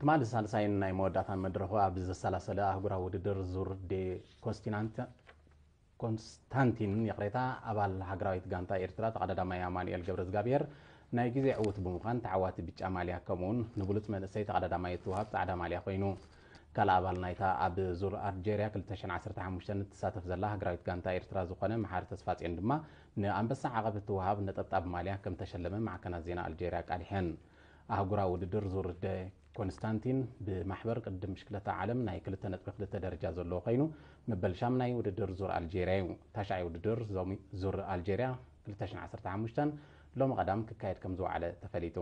ትማሊ ሳልሳይን ናይ መወዳእታን መድረኹ ኣብ ዘሰላሰለ ኣህጉራዊ ውድድር ዙር ዴ ኮንስቲናንት-፣ ኮንስታንቲን፣ ይቕሬታ፣ ኣባል ሃገራዊት ጋንታ ኤርትራ ተቐዳዳማይ ኣማኑኤል ገብረዝጋብሔር ናይ ግዜ ዕዉት ብምዃን ተዓዋቲ ብጫ ማልያ ከምኡውን ንብሉጽ መንእሰይ ተቐዳዳማይ እትወሃብ ጻዕዳ ማልያ ኮይኑ። ካልእ ኣባል ናይታ ኣብ ዙር ኣልጀርያ ክልተ ሽሕን ዓሰርተ ሓሙሽተን እትሳተፍ ዘላ ሃገራዊት ጋንታ ኤርትራ ዝኾነ መሓሪ ተስፋጽዮን ድማ ንኣንበሳ ዓቐብ እትወሃብ ነጠብጣብ ማልያ ከም ተሸለመ ማዕከናት ዜና ኣልጀርያ ኣቃሊሐን። ኣህጉራዊ ውድድር ዙር ደ ኮንስታንቲን ብማሕበር ቅድድም ብሽክለታ ዓለም ናይ ክልተ ነጥቢ ክልተ ደረጃ ዘለዎ ኮይኑ፣ መበል ሻምናይ ውድድር ዙር ኣልጄርያ እዩ። ታሽዓይ ውድድር ዞሚ-፣ ዙር ኣልጄርያ ክልተ ሽሕን ዓሰርተ ሓሙሽተን ሎሚ ቀዳም ክካየድ ከም ዝወዓለ ተፈሊጡ።